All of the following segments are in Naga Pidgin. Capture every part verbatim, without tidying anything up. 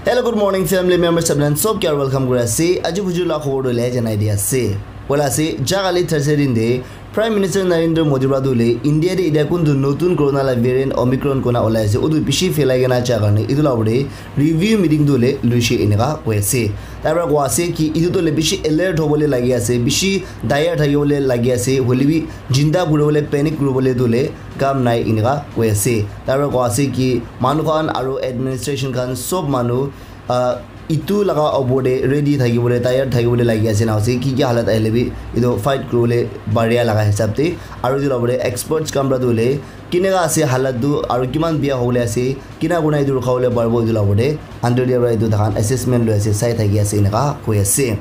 Hello, good morning, family members. Sabnan sob kya welcome kuri ase. Aji bujur la khobor le janai di ase. Wala ase, ja kali Thursday din de Prime Minister Narendra Modi pra dule India de ida kuntu notun corona la variant Omicron kona olai ase. Udu bishi phelai kena ja karne idu la ure review meeting dule luishe eneka koi ase. Tar pra koi ase ki idu dule bishi alert hobole lagi ase, bishi dayar thakibole lagi ase. Hoile bi jinda kuribole, panic kuribole dule kam nai eneka koi ase. Tar pra koi ase ki manu khan aro administration khan sob manu, ah, itu laga opor te ready thakibole, tayar thakibole lagi ase na ase. Ki ki halat ahile bi itu fight kuribole paria laga hisab te. Aro itu la opor te experts khan pra tu hoile kineka ase halat tu aro kiman bia hobole ase, kina kuna itu rukhabole paribo itu la opor te under te pra itu takhan assessment loi ase, sai thaki ase eneka koi ase.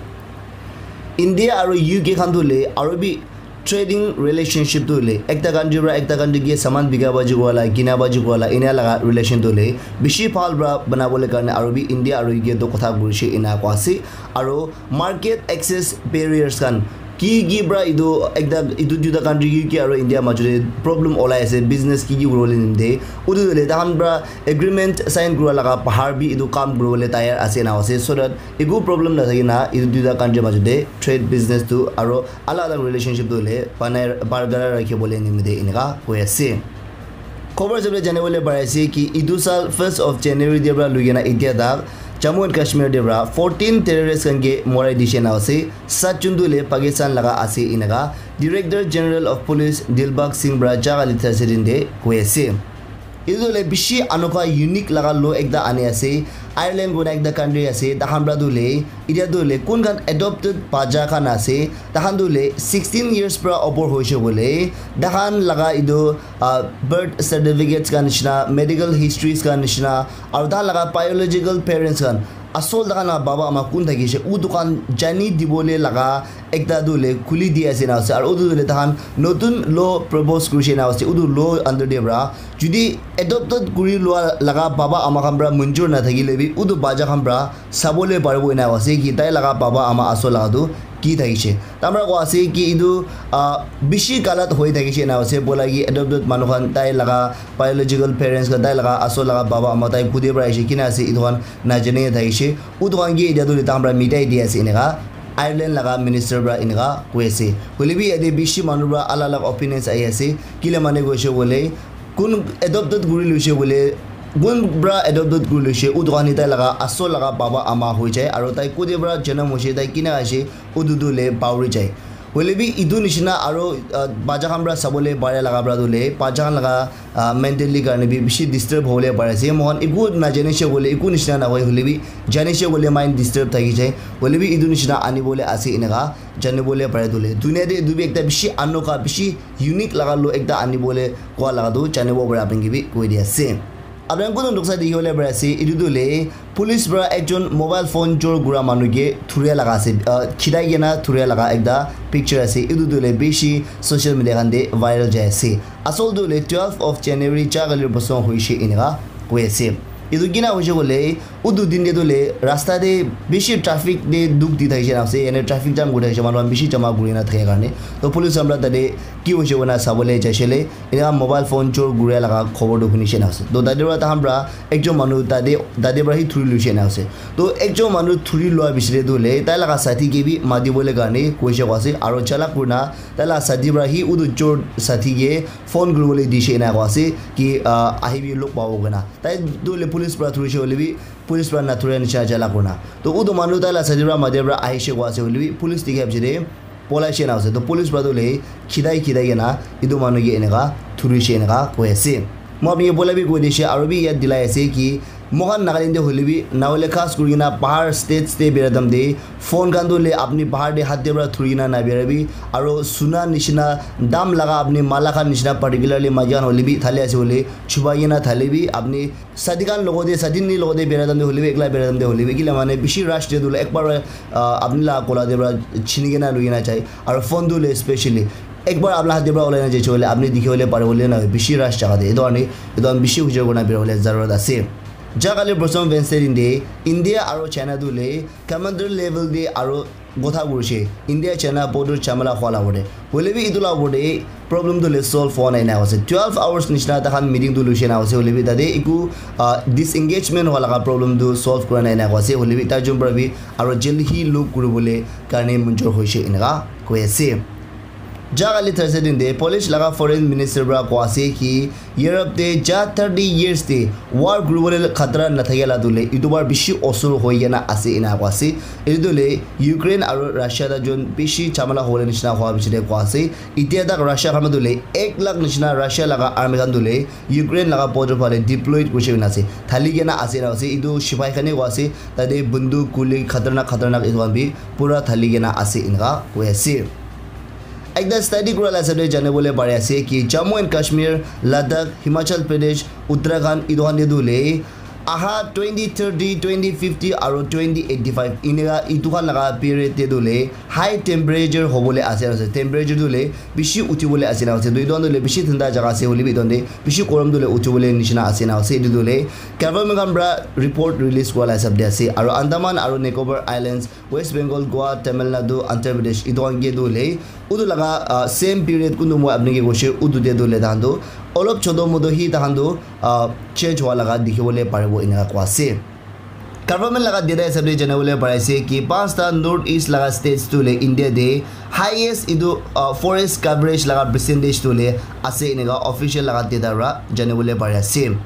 India aro U K khan tu hoile aro bi trading relationship tu hoile ekta country pra ekta country ke saman bika baji wala, kina baji wala, ena laga relation tu hoile bishi bhal pra banabole karne aro bi India aro U K to kotha kurishe ena koi ase. Aro market access barriers khan ki ki pra itu ekta itu duita country U K aro India majot te problem olai ase, business ki ki kuribole nimite utu hoile takhan pra agreement sign kura laga bahar bi itu kam kuribole tayar ase na ase, so that eku problem nathaki na itu duita country majot te trade business tu aro alag alag relationship tu hoile banai barqarar rakhibole nimite eneka koi ase. Khobor hisabe janibole pari ase ki itu sal first of January te pra lui kena itia tak Jammu and Kashmir te pra fourteen terrorist khan ke morai dishe na ase. Sat jun tu hoile Pakistan laga ase eneka Director General of Police Dilbagh Singh pra ja kali Thursday din te koi ase. Itu hoile bishi anoka unique laga law ekta ani ase. Ireland koi na ekta country ase, takhan pra tu hoile itia tu hoile kun khan adopted bacha khan ase, takhan tu hoile sixteen years pra opor hoishe koile takhan laga itu, ah, birth certificates khan nishina, medical histories khan nishina, aro takhan laga biological parents khan, asol takhan laga baba ama kun thakishe, utu khan jani dibole laga ekta tu hoile khuli di ase na ase. Aro utu tu hoile takhan notun law propose kurishe na ase. Utu law under te pra judi adopted kuri lua laga baba ama khan pra munjur na thakile bi utu bacha khan pra sabole paribo ena ase ki tai laga baba ama asol laga tu ki thakishe. Tamra koi ase ki itu, ah, bishi galat hoi thakishe ena ase, bola ki adopted manu khan tai laga biological parents khan tai laga asol laga baba ama tai kude pra aishe kina ase itu khan najane thakishe. Utu khan ke itia tu tamra mitai di ase eneka Ireland laga minister pra eneka koi ase. Hoile bi yate bishi manu pra alag alag opinions ahi ase. Kile mane koishe koile kun adopted kuri loishe koile, kun pra adopted kuri loishe, utu khan tai laga asol laga baba ama hoi jai, aro tai kode pra janam hoishe, tai kina aishe, utu tu hoile pauri jai. Hoile bi itu nishina aro, ah, bacha khan pra sabole pare laga pra tu hoile bacha khan laga, ah, mentally karne bi bishi disturb hobole pare ase. Moikhan eku najane she koile eku nishina nahoi, hoile bi jane she koile mind disturb thaki jai. Hoile bi itu nishina anibole ase eneka janibole pare tu hoile. Dunia te itu bi ekta bishi anoka, bishi unique laga law ekta anibole kua laga tu janibo pare apni ke bi koi di ase. Apni khan kuntu noksa dikhi bole pari ase, etu tu hoile police para ekjon mobile phone chor kura manu ke thuria laga ase, ah, khidai kena thuria laga ekta picture ase. Etu tu hoile bishi social media khan te viral jai ase. Asol tu hoile twelve of January cha kali bosong hoishe eneka koi ase. Etu kina hoishe koile, utu din te tu hoile rasta te bishi traffic te dukh di thakishe na ase, yate traffic jam kuri thakishe, manu khan bishi jama kuri na thake karne. To police khan para tate ki hoishe koina sabole jaishe le, Eneka mobile phone chor kuria laga khobor tu hunishe na ase. To tate para tahan para ekjon manu tate, tate para hi thuri luishe na ase. To ekjon manu thuri lua bichire tu hoile tai laga sathi ke bi mati bole karne koishe ko ase. Aro chalak kurina tai laga sathi para hi utu chor sathi ke phone kuribole dishe na ko ase ki, ah, ahibi log pabo koina. Tai tu hoile police para thurishe hoile bi police para nathuria nishe chalak kurina. To utu manu tai laga sathi para mati para ahishe ko ase hoile bi police dikha bichire polai she na ase. To police para tu hoile khidai khidai kena etu manu ke eneka thurishe eneka koi ase. Moi apni ke poila bi koi dishe, aro bi yat dilai ase ki moikhan Nagaland te hoile bi, na hoile khas kuri kena bahar states te bera time te phone khan tu hoile apni bahar te hath te para thuri kena na bera bi, aro suna nishina dam laga apni mala khan nishina particularly maiki khan hoile bi thale ase hoile chubai kena thale bi apni Sadi khan logote, sadi ni logote bera time te hoile bi, ekla bera time te hoile bi, kila mane bishi rush te tu hoile ekbar, ah, apni la kola te para chini kena lui kena jai. Aro phone tu hoile specially ekbar apni la hath te para ulai na jai hoile, apni dikhi bole pari bole na hoi, bishi rush jaga te. Etu karne etu khan bishi hujor kurina bera bole zarurat ase. Jagale Bosong Wednesday din de India aro China tu le commander level de aro gotha kurishe. India China border chamala hwa la bode. Hoile bi itu la bode problem tu le solve hwa nai na ase. Twelve hours nishina ta khan meeting tu luishe na ase. Hoile bi tate iku uh, disengagement hwa laga problem tu solve kura nai na ase. Hoile bi ta jom pra bi aro jaldi hi lok kuribole karne munjur hoishe inaka koi ase. Jagale Thursday din de Polish laga foreign minister pra kwa ase ki Europe te ja thirty years te war kuribole khatra na thakela dule itu bar bishi osur hoi kena ase ina kwa ase. Itu dule Ukraine aro Russia ta jon bishi chamala hole nishina hwa bishi de kwa ase. Itia tak Russia khan dule ek lakh nishina Russia laga army khan dule Ukraine laga border phale deployed kurishe na ase. Thali kena ase na ase. Itu shipai khane kwa ase. Tate bundu kuli khatarnak khatarnak itu khan bi pura thali kena ase inaka koi ase. Ekta study kura la hisab de jane bole pare ase ki Jammu and Kashmir, Ladakh, Himachal Pradesh, Uttarakhand itu khan de dule aha twenty thirty, twenty fifty aro twenty eighty five inaka itu khan laga period de dule high temperature hobole ase ase. Temperature dule bishi uthi bole ase na ase. Itu itu dule bishi thanda jaga ase hoile bi itu de bishi korom dule uthi bole nishina ase na ase. Itu dule government khan pra report release kura la hisab de ase. Aro Andaman aro Nicobar Islands West Bengal, Goa, Tamil Nadu, Andhra Pradesh, itu khan ke tu le, utu laga uh, same period kuntu moi apni ke koshe, utu te tu le tahan tu, olop chodo modo hi tahan tu uh, change hua laga dikhi bole paribo inaka kwa ase. Government laga data hisab de jana bole pari ase ki panchta North East laga states tu le India de highest itu uh, forest coverage laga percentage tu le ase inaka official laga data ra jana bole pari ase.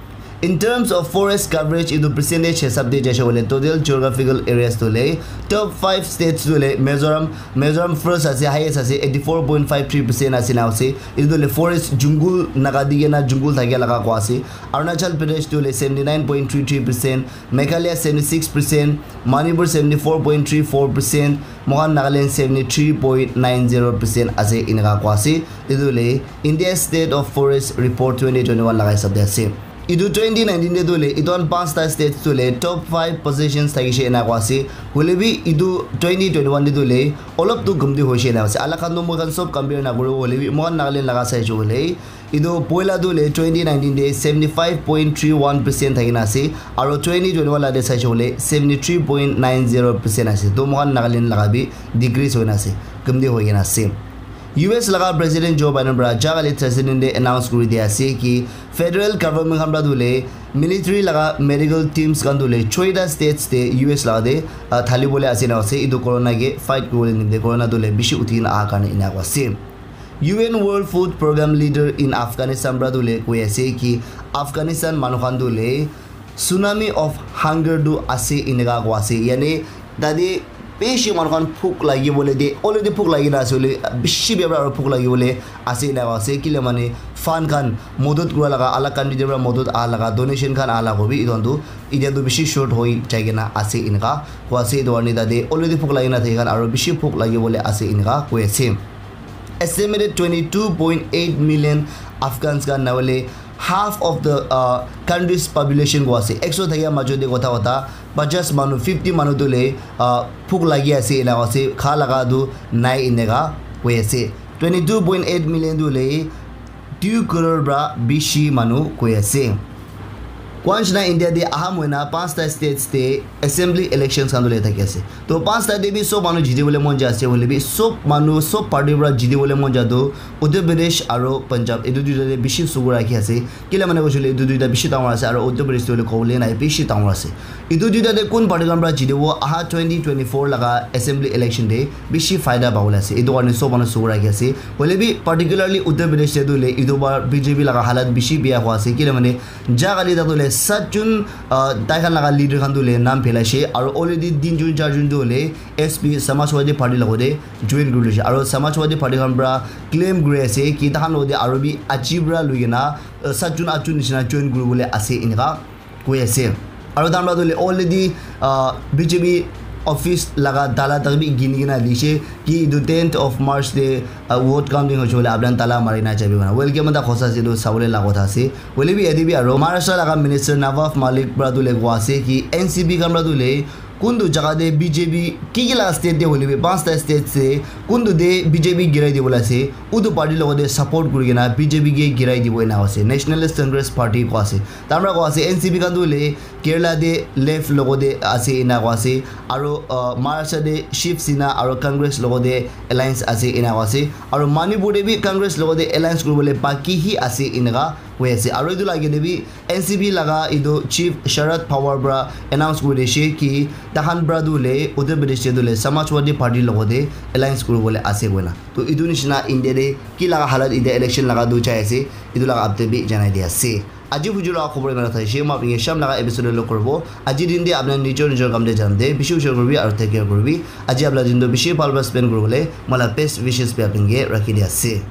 In terms of forest coverage, itu percentage hisab de jaise hoile total geographical areas tu le top five states tu le Mizoram, Mizoram first ase, highest ase, eighty four point five three percent ase na ase. Itu le forest jungle naga di kena jungle thake laga kwa ase. Arunachal Pradesh tu le seventy nine point three three percent, Meghalaya seventy six percent, Manipur seventy four point three four percent, Mohan Nagaland seventy three point nine zero percent ase inaka kwa ase. Itu le India State of Forest Report twenty twenty one laga hisab de ase. Itu twenty nineteen de tu le itu khan panchta states tu le top five positions thakishe ena kwa ase. Hoile bi itu twenty twenty one de tu le olop tu gumdi hoishe ena ase. Alak khan tu moi khan sob compare na kuru hoile bi moi khan Nagaland laga saishe hoile itu poila tu le twenty nineteen de seventy five point three one percent thakina ase. Aro twenty twenty one la de saishe hoile seventy three point nine zero percent ase. To moi khan Nagaland laga bi decrease hoina ase. Gumdi hoikena ase. U S laga President Joe Biden pra jagale President de announce kuri dia ase ki federal government khan pra dule military laga medical teams khan dule choita states te U S laga de uh, thali bole ase na ase itu corona ke fight kuri bole nimite corona dule bishi uthi kena aha karne ena kwa ase. U N World Food Program leader in Afghanistan pra dule koi ase ki Afghanistan manu khan dule tsunami of hunger tu ase inaka kwa ase yani tate bishi manu khan phuk lagi bole de already phuk lagi na ase bole bishi bebra aro phuk lagi bole ase inaka ase kile mane fund khan modot kura laga alak country de pra modot aha laga donation khan aha laga hobi itu khan tu itia tu bishi short hoi jai kena ase inaka kwa ase itu karne tate already phuk lagi na thaki khan aro bishi phuk lagi bole ase inaka koi ase. Estimated twenty two point eight million Afghans khan na hoile half of the uh, country's population ko ase ekso thakia majo de kotha kotha pajas manu fifty manu tu le uh, phuk lagi ase ena ase kha laga tu nai eneka koi ase twenty two point eight million tu le two crore pra bishi manu koi ase. Kwanchna India de aha moina panchta states te assembly elections khan dole thaki ase. To panchta de bi sob manu jiti bole mon ja ase hoile bi sob manu sob party pra jiti bole mon ja to Uttar Pradesh aro Punjab etu duita de bishi sugu rakhi ase. Kila mane koishe koile etu duita bishi dangor ase aro Uttar Pradesh tu hoile kobole nai bishi dangor ase. Etu duita de kun party khan pra jitibo aha twenty twenty four laga assembly election de bishi faida pabole ase. Etu karne sob manu sugu rakhi ase. Hoile bi particularly Uttar Pradesh de tu hoile etu bar B J P laga halat bishi biya hua ase. Kila mane ja kali ta tu hoile sat jun uh, tai khan laga leader khan tu hoile naam phelaishe aro already tin jun char jun tu hoile S P Samajwadi Party logote join kuri loishe aro Samajwadi Party khan pra claim kuri ase ki tahan logote aro bi aji pra lui kena uh, sat jun at jun nishina join kuri bole ase eneka koi ase. Aro tahan pra tu hoile already uh, B J P office laga tala tak bi gini kena dishe ki etu tenth of March te uh, vote counting hoishe koile apni khan tala mari na jabi kena. Well, kiman ta khosa ase etu sabole la kotha ase. Hoile bi yate bi aro Maharashtra laga minister Nawab Malik pra tu hoile koi ase ki N C P khan pra tu hoile kuntu jaga te B J P ki ki laga state te hoile bi, panchta state te kuntu te B J P girai dibole ase, utu party logote support kuri kena B J P ke girai dibo ena ase, Nationalist Congress Party ko ase. Tamra ko ase, N C P khan tu hoile Kerala te left logote ase ena ko ase, aro uh, Maharashtra te Shiv Sena aro Congress logote alliance ase ena ko ase, aro Manipur te bi Congress logote alliance kuribole baki hi ase eneka koi ase. Aro etu lage te bi N C P laga etu chief Sharad Pawar para announce kuri dishe ki tahan para tu le Uttar Pradesh te tu le Samajwadi Party logote alliance kuribole ase koina. To etu nishina India te ki laga halat etia election laga tu jai ase, etu laga update bi janai di ase. Aji huju laga khobor imana thaishe, ma apni sham laga episode lo koribo. Aji din te apni nijor nijor kam te jan de, bishi hushar koribi aru take care koribi. Aji apna din to bishi bhal para spend koribole, mala best wishes bi apni ke rakhi di ase.